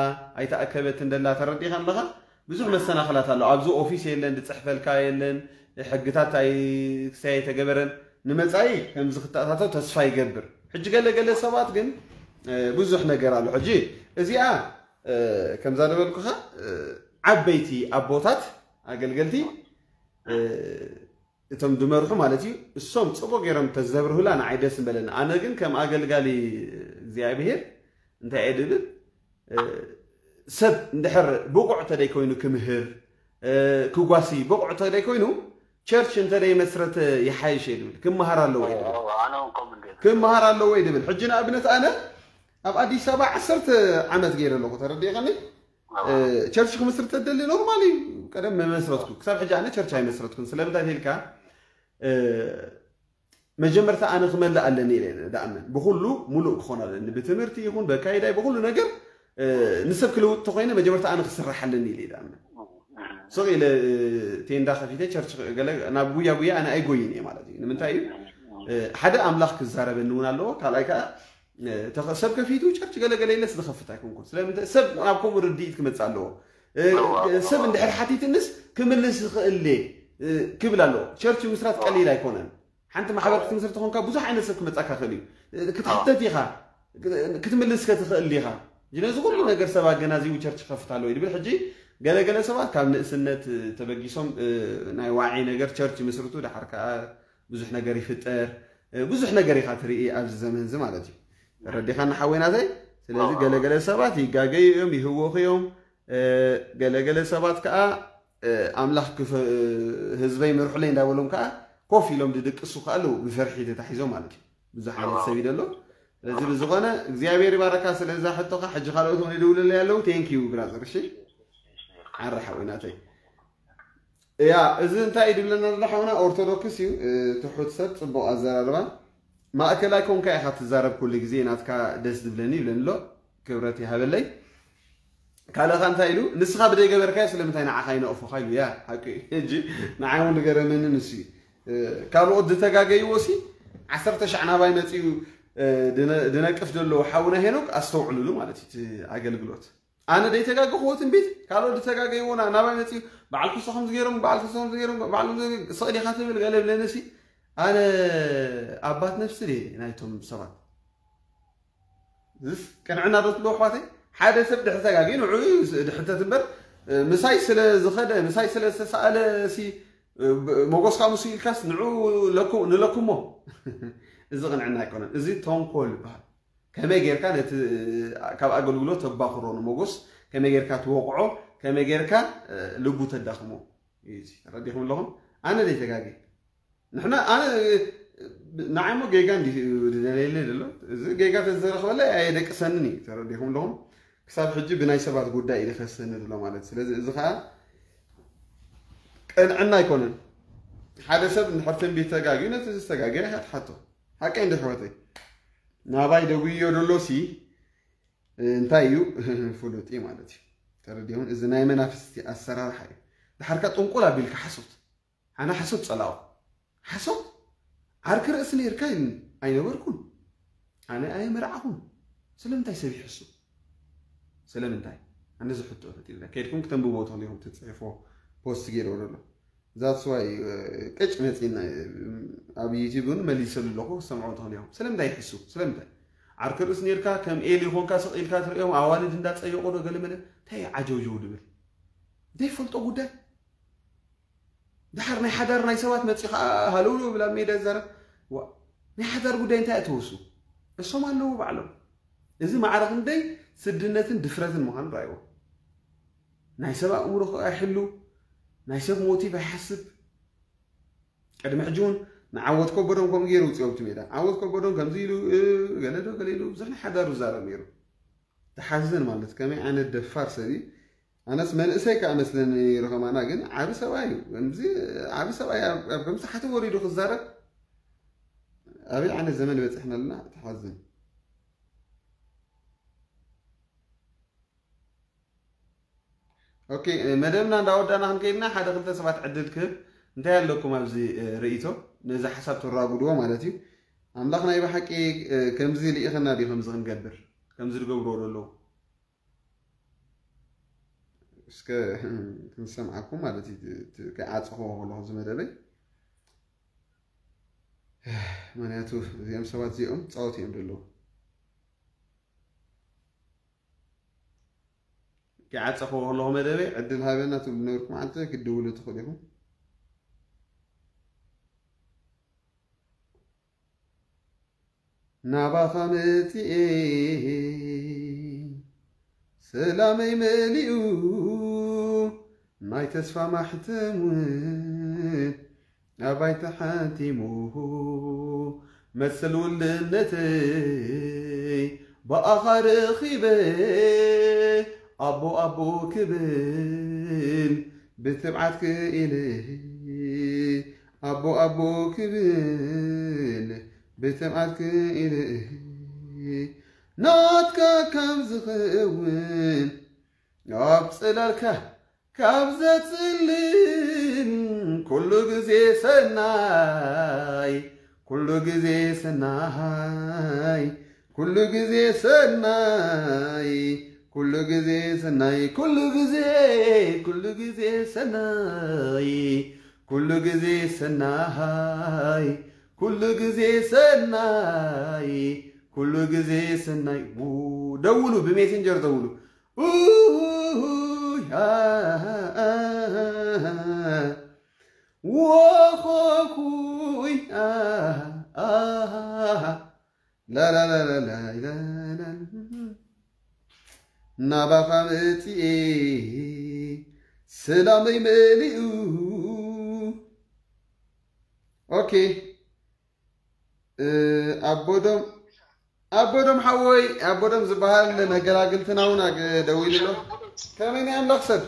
ኣይተኣከበትን ደላ። ተረዲኻ ኣለኻ? ብዙሕ መሰናኽላት ኣሎ። ኣብዚ ኦፊስ የለን፣ ዝጽሕፈልካ የለን፣ ሕግታት ኣይ-፣ ክሳይ ኣይተገበረን። ንመጻኢ ከምዚ ክተኣታተው ተስፋ ይገብር። ሕጂ ገለ ገለ ሰባት ግን፣ እ፣ ብዙሕ ነገር ኣሎ። ሕጂ እዚኣ፣ እ፣ ከምዛ ነበልኩኻ፣ እ፣ ዓበይቲ ኣቦታት ኣገልገልቲ፣ እ፣ እቶም ዝመርሑ ማለት እዩ፣ እሶም ጽቡቕ ገይሮም ተዘብርሁላ ንዓይ ደስ ምበለኒ። ኣነ ግን ከም ኣገልጋሊ እግዚኣብሔር እንታይ እየ ድብል፣ እ፣ ሰብ እንድሕር ብቑዕ እንተደይ ኮይኑ ክምህር፣ እ፣ ክጓሲ ብቑዕ እንተደይ ኮይኑ፣ ቸርች እንተደይ መስረተ ይሓይሽ እየ ድብል። ክመሃር ኣለዎ እየ ድብል። እወ፣ ኣነ እውን ከምኡ እንድየ ዝብል። ክመሃር ኣለዎ እየ ድብል። ሕጂ ንኣብነት ኣነ ኣብ ኣዲስ ኣበባ ዓሰርተ ዓመት ገይረ ኣለኹ፣ ተረዲእኻኒ? እወ። እ፣ ቸርች ክምስርት ተደሊ ኖርማል እዩ። ቀደም መመስረትኩ። ክሳብ ሕጂ ኣነ ቸርች ኣይመስረትኩን። ስለምንታይ ተልካ፣ እ፣ መጀመርታ ኣነ ክመልእ ኣለኒ ኢለ እየ ዝኣምን። ብኹሉ ሙሉእ ክኾን ኣለኒ። ብትምህርቲ ይኹን፣ በካይዳይ፣ ብኹሉ ነገር፣ እ፣ ንሰብ ክልውጥ ተኾይነ መጀመርታ ኣነ ክስራሕ ኣለኒ ኢለ እየ ዝኣምን። ስቕ ኢለ፣ እ፣ ቴንዳ ከፊተ ቸርች ገለ ናብ ጉያ ጉያ ኣነ ኣይጎይን እየ ማለት እዩ። ንምንታይ እዩ? እ፣ ሓደ ኣምላኽ ክዛረበኒ እውን ኣለዎ። ካልኣይ ከኣ፣ እ፣ ተኸ-፣ ሰብ ከፊቱ ቸርች ገለ ገለ ኢለስ ዝኸፍት ኣይኮንኩን። ስለምንታይ? ሰብ ናብ ከምኡ ርድኢት ክመጽእ ኣለዎ። እ፣ እወ፣ እወ። ሰብ እንድሕር ሓቲትንስ ክምልስ ይኽእል እየ፣ እ፣ ክብል ኣለዎ። ቸርች ምስራት ቀሊል ኣይኮነን። ሓንቲ ማሕበር ክትምስርት ተኾንካ ብዙሕ ዓይነት ሰብ ክመጻካ ክእል እዩ። እ፣ ክትሕተት ኢኻ፣ ክ-፣ ክትምልስ ከትኽእል ኢኻ። ነዚ ኩሉ ነገር ሰብ ኣገናዚቡ ቸርች ክኸፍት ኣለዎ እዩ ድብል። ሕጂ ገለ ገለ ሰባት ካብ ንእስነት፣ እ፣ ተበጊሶም፣ እ፣ ናይ ዋዒ ነገር ቸርች ይምስርቱ፣ ደሓር ከኣ ብዙሕ ነገር ይፍጠር፣ እ፣ ብዙሕ ነገር ኢኻ ትርኢ ኣብዚ ዘመን እዚ ማለት እዩ። ተረዲኻኒ ሓወይ ናተይ? ስለዚ ገለ ገለ ሰባት ይጋገዩ እዮም፣ ይህወኹ እዮም። እ፣ ገለ ገለ ሰባት ከኣ፣ እ፣ ኣምላኽ ክፈ-፣ ህዝበይ ምርሑለይ እንዳበሎም ከኣ ኮፍ ኢሎም ድድቅሱ ከኣ ኣለዉ፣ ብፍርሒ ተታሒዞም ማለት እዩ። ብዙሕ ዓይነት ሰብ እዩ ደሎ። ስለዚ ብዝኾነ እግዚኣብሔር ይባረካ ስለ እዛ ሕቶኻ። ሕጂ ካልኦት እውን ይድውሉለይ ኣለዉ። ቴንክ ዩ ብራዘር። እሺ፣ ሓረ ሓወይ ናተይ። ያ፣ እዚ እንታይ እዩ ድብለና ዘሎ ሓውና? ኦርቶዶክስ እዩ፣ እ፣ ትሑት ሰብ፣ ጽቡቕ ኣዘራርባ። ማእከላይ ኮንካ ኢኻ ትዛረብ ኩሉ ግዜ፣ ናትካ ደስ ዝብለኒ ይብለኒ ኣሎ። ክብረት ይሃበለይ። ካልእኻ እንታይ ኢሉ? ንስኻ ብደይ ገበርካዮ ስለምንታይ ንዓኻ ይነቕፉኻ ኢሉ? ያ፣ ሓቂ እዩ። ሕጂ ንዓይ እውን ዝገረመኒ ንሱ እዩ። እ፣ ካልኦት ዝተጋገይዎ ሲ ዓሰርተ ሻዕ ናባይ መጺኡ፣ እ፣ ድነ-፣ ድነቅፍ ዘሎ ሓውና ሄኖክ ኣስተውዕሉሉ ማለት እዩ እቲ ኣገልግሎት። ኣነ ደይተጋገኽዎ ትንቢት፣ ካልኦት ዝተጋገይዎ ና-፣ ናባይ መጺኡ፣ በዓል ክሶ ከምዚ ገይሮም፣ በዓል ክሶ ከምዚ ገይሮም፣ በዓል ከምዚ ገይሮም፣ ስቕ ዲኻ ትብል ገለ ብለኒ ሲ፣ ኣነ ኣባት ነፍሲ ድየ ናይቶም ሰባት? እዚስ ቅንዕና ዶ ትብሎ ኣሕዋተይ? ሓደ ሰብ ድሕሪ ተጋግዩ ንዕኡ ድሕተት እምበር፣ ምሳይ ስለ ዝኸደ፣ ምሳይ ስለ ዝተሰኣለ ሲ፣ ብ-፣ ሞጎስካ ምስ ኢልካስ ንዑ ለኩ-፣ ንለኩሞ። እዚ ቅንዕና ኣይኮነን። እዚ ተንኮል ይበሃል። ከመይ ጌርካ ነቲ ካብ ኣገልግሎት ተባኽሮ ንሞጎስ፣ ከመይ ጌርካ ትወቕዖ፣ ከመይ ጌርካ፣ እ፣ ልቡ ተዳኽሞ እዩ እዚ። ተረዲኹም ኣለኹም? ኣነ ደይ ተጋጌ። ንሕና፣ ኣነ፣ ንዓይ እሞ ጌጋ እንዲ-፣ ዝደለየለይ ዘሎ፣ እዚ ጌጋ ተዝተረኽበለይ ኣየደቅሰንን እዩ። ተረዲኹም ኣለኹም? ክሳብ ሕጂ ብናይ ሰባት ጉዳይ እዩ ዝኸሰኒ ዘሎ ማለት። ስለዚ እዚ ኸዓ ቅንዕና ኣይኮነን። ሓደ ሰብ እንድሕር ትንቢት ተጋግዩ፣ ነቲ ዝተጋገየ ኢኻ ትሓቶ። ሓቀይ እንዲ ኣሕዋተይ፣ ናባይ ደጉዮ ደሎ ሲ እንታይ እዩ? ፍሉጥ እዩ ማለት እዩ። ተረዲኹም? እዚ ናይ መናፍስቲ ኣሰራርሓ እዩ። ድሓርካ ጥንቁል ኣቢልካ ሓሶት። ኣነ ሓሶት ጸላኦ። ሓሶት? ዓርኪ ርእሲ ነይርካ ኢልኒ። ኣይነበርኩን። ኣነ ኣየመርዓኹን። ስለምንታይ ሰብ ይሕሱ? ስለምንታይ? ኣነ ዝሕቶ ፈጢርና። ከይድኩም ክተንብቦ ትኽእሉ ኢኹም፣ ትጽሕፎ ፖስት ገይርዎ ዘሎ። That's why፣ እ፣ ቅጭ መጺና፣ እ፣ ኣብ ዩቲዩብ እውን መሊሰሉ ኣለኹ፣ ክሰምዖ ትኽእሉ ኢኹም። ስለምንታይ ይሕሱ? ስለምንታይ? ዓርኪ ርእሲ ነይርካ፣ ከም ኤሊ ኾንካ ስቕ ኢልካ ትርእዮም፣ ኣዋልድ እንዳጸየቑ ዶ ገለ መለ? እንታይ ዓጀውጀው ድብል? ዘይፈልጦ ጉዳይ? ድሓር ናይ ሓዳር ናይ ሰባት መጺ ኸዓ ሃለውለው ብላ ሜዳ ይዛረብ። ዋ፣ ናይ ሓዳር ጉዳይ እንታይ እተወሱ? እሶም ኣለዉ ባዕሎም። እዚ ማዕረ ክንደይ ስድነትን ድፍረትን ምዃኑ ረኣይዎ። ናይ ሰብ ኣእምሮ ኸዓ ኣይሕሉ፣ ናይ ሰብ ሞቲቭ ኣይሓስብ። ቅድሚ ሕጂ እውን ንዓወት ከበዶም ከምኡ ገይሩ ውፅኦም እቲ ሜዳ። ዓወት ከበዶም ከምዚ ኢሉ፣ እ፣ ገለ ዶ ገለ ኢሉ ብዙሕ ናይ ሓዳሩ ዝዛረብ ነይሩ። ትሓዝን ማለት ከመይ ዓይነት ደፋር ሰብ እዩ። ኣነስ መንእሰይ ከኣ መስለኒ ነይሩ ከማና፣ ግን ዓቢ ሰብኣይ እዩ። ከምዚ ዓቢ ሰብኣይ ኣብ፣ ኣብ ከምዚ ታሕቲ ወሪዱ ክዛረብ ኣበይ ዓይነት ዘመን በጺሕና ኣለና? ትሓዝን። ኦኬ፣ መደብና እንዳወዳእና ክንከይድና ሓደ ክልተ ሰባት ዕድል ክህብ። እንታይ ኣለኩም ኣብዚ፣ እ፣ ርእይቶ? ነዚ ሓሳብ ተራጉድዎ ማለት እዩ። ኣምላኽ ናይ ብሓቂ፣ እ፣ ከምዚ ልኢኸና ድዩ ከምዚ ክንገብር? ከምዚ ዝገብርዎ ዘለዉ? እስከ ክንሰምዓኩም ማለት እዩ። ት-፣ ት-፣ ከይዓጸኽዎ ከለኹ እዚ መደበይ። ምኽንያቱ እዚኦም ሰባት እዚኦም ጻወት እዮም ዘለዉ። ከይዓጸኽዎ ከለኹ መደበይ ዕድል ሃበና ትብሉ ነበርኩም። ዓንተ ክትድውሉ ትኽእሉ ኢኹም። ናባኻ መጺኤ ሰላመይ መሊኡ ናይ ተስፋ ማሕተም እውን ኣባይ ተሓቲሙ መሰል ውልድነተይ ብኣኻ ረኺበ ኣቦ ኣቦ ክብል ብትብዓት ክኢለ ኣቦ ኣቦ ክብል ብትብዓት ክኢለ ናትካ ካብ ዝኸውን ኣብ ጽላልካ ካብ ዘጽልል ኩሉ ግዜ ሰናይ ኩሉ ግዜ ሰናይ ኩሉ ግዜ ሰናይ ኩሉ ግዜ ሰናይ ኩሉ ግዜ ኩሉ ግዜ ሰናይ ኩሉ ግዜ ሰናይ ኩሉ ግዜ ሰናይ ኩሉ ግዜ ሰናይ። ው-፣ ደውሉ፣ ብሜሴንጀር ደውሉ። ኡይ፣ አ፣ አ፣ አ፣ አ፣ ወኾኹይ፣ አ፣ አ፣ አ፣ ላላላላላይላላ። ናባኻ መጺኤ ሰላመይ መሊኡ። ኦኬ። እ፣ ኣቦዶም፣ ኣቦዶም ሓወይ፣ ኣቦዶም ዝበሃል መገላግልትና እውን ኣግ-፣ ደዊሉ ኣሎ። ከመይ ናይ ኣምላኽ ሰብ?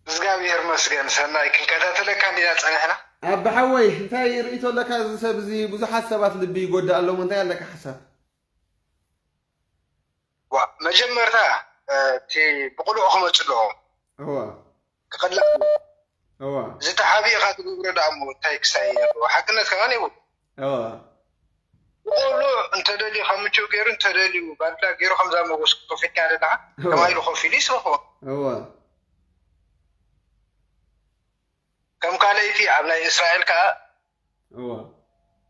እግዚኣብሔር መስገን ሰናይ፣ ክንከታተለካ እንዲና ጸኒሕና። ኣቢ ሓወይ፣ እንታይ ርእይቶ ኣለካ? እዚ ሰብ እዚ ብዙሓት ሰባት ልቢ ይጎድእ ኣሎ። እንታይ ኣለካ ሓሳብ? ዋ፣ መጀመርታ፣ እ፣ እቲ ብቕሉዕ ክመጽእ ኣለዎ። እዋ። ክቕላዕ ኣለዎ። እዋ። እዚ ተሓቢእካ ትገብሮ ደኣ እሞ እንታይ ክሳይ ኣለዎ? ሓቅነት ከማን የብሉ። እዋ። ብቕሉዕ እንተደልዩ ካብ ምችው ገይሩ እንተደልዩ ባድላ ገይሩ ከምዛ መጎስ ኮፍ ኢልካ ደለኻ እዋ። ከማይ ኢሉ ኮፍ ኢሉ ይስርሖ። እዋ። ከም ካልኣይቲ ኣብ ናይ እስራኤል ከኣ እዋ።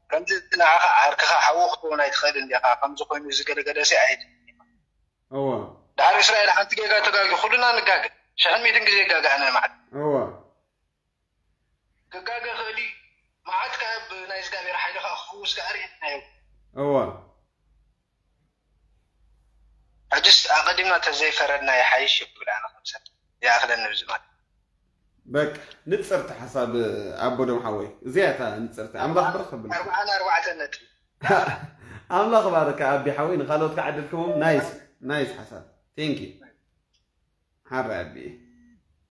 ከምዚ ንዓኻ ዓርክኻ ሓዉ ክትኮን ኣይትኽእልን ዲኻ? ከምዚ ኮይኑ እዚ ገለገለ ሲ ኣይድልን። እዋ። ድሓር እስራኤል ሓንቲ ጌጋ ተጋጊ፣ ኩልና ንጋገ። ሽሕን ሚእትን ግዜ ይጋጋእና። መዓት እዋ ክጋገ ክእል እዩ። መዓት ካብ ናይ እግዚኣብሔር ሓይሊ ከዓ ክፍውስ ከዓ ርእናዮ። እዋ ሕጅስ ኣቐዲምና ተዘይፈረድና ይሓይሽ ይብል ኣነ ከምሰብ ይኣኽለኒ ብዚ ማለት። በቃ ንጽርቲ ሓሳብ ኣቦ ደም ሓወይ፣ እዚኣ እታ ንጽርቲ። ኣምላኽ ብርኽ ተብል። ኣርባዓን ኣርባዕተን ነጥቢ። ኣምላኽ ባርካ ኣቢ ሓወይ፣ ንኻልኦት ከዓድልክዎም። ናይስ ናይስ ሓሳብ። ቴንክ ዩ ሓራይ ኣቢ።